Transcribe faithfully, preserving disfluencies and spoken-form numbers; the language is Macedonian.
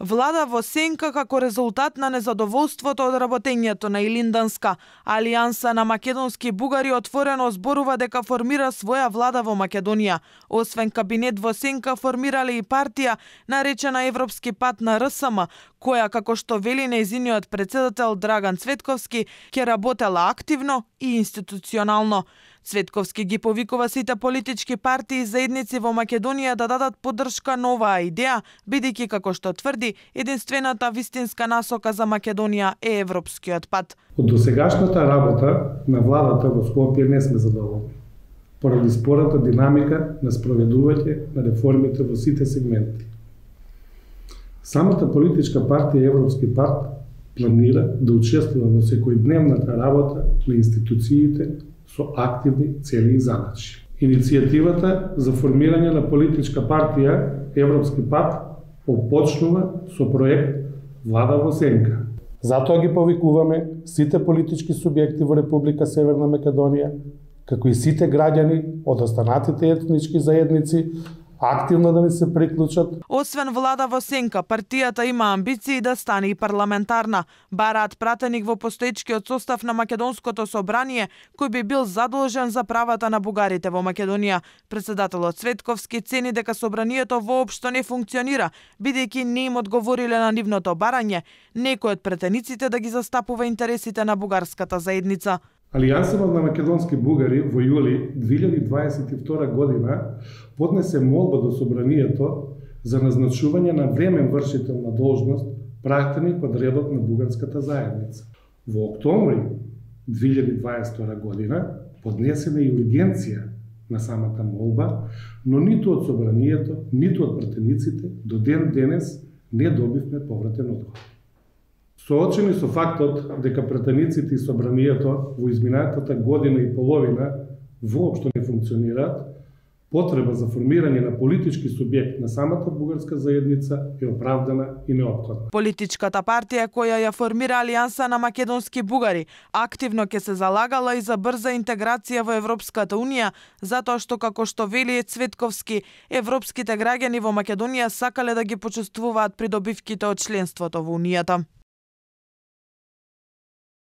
Влада во сенка како резултат на незадоволството од работењето на Илинданска. Алијанса на македонски бугари отворено зборува дека формира своја влада во Македонија. Освен кабинет во сенка, формирале и партија наречена Европски пат на РСМ, која, како што вели нејзиниот председател Драган Цветковски, ќе работела активно и институционално. Цветковски ги повикува сите политички партии и заедници во Македонија да дадат поддршка на оваа идеја, бидејќи, како што тврди, единствената вистинска насока за Македонија е европскиот пат. Од досегашната работа на владата во Скопје не сме задоволни, поради спората динамика на спроведување на реформите во сите сегменти. Самата политичка партија Европски пат планира да учествува во секојдневната работа на институциите со активни цели и задачи. Иницијативата за формирање на политичка партија Европски пат опочнува со проект Влада во сенка. Затоа ги повикуваме сите политички субјекти во Република Северна Македонија, како и сите граѓани од останатите етнички заедници, активно да ни се приклучат. Освен влада во сенка, партијата има амбиции да стане и парламентарна. Бараат пратеник во постоечкиот состав на Македонското собрание, кој би бил задолжен за правата на бугарите во Македонија. Председателот Цветковски цени дека собранието воопшто не функционира, бидејќи не им одговориле на нивното барање, некој од претениците да ги застапува интересите на бугарската заедница. Алијансата на македонски бугари во јули две илјади дваесет и втора година поднесе молба до собранието за назначување на времен вршител на должност пратеник од редот на бугарската заедница. Во октомври две илјади дваесет и втора година поднесена и ургенција на самата молба, но ниту од собранието, ниту од пратениците до ден денес не добивме повратен одговор. Соочени со фактот дека пратениците и собранието во изминатата година и половина воопшто не функционираат, потреба за формирање на политички субјект на самата бугарска заедница е оправдана и неопходна. Политичката партија која ја формира Алијанса на македонски бугари активно ќе се залагала и за брза интеграција во Европската унија, затоа што, како што вели Цветковски, европските граѓани во Македонија сакале да ги почувствуваат придобивките од членството во унијата.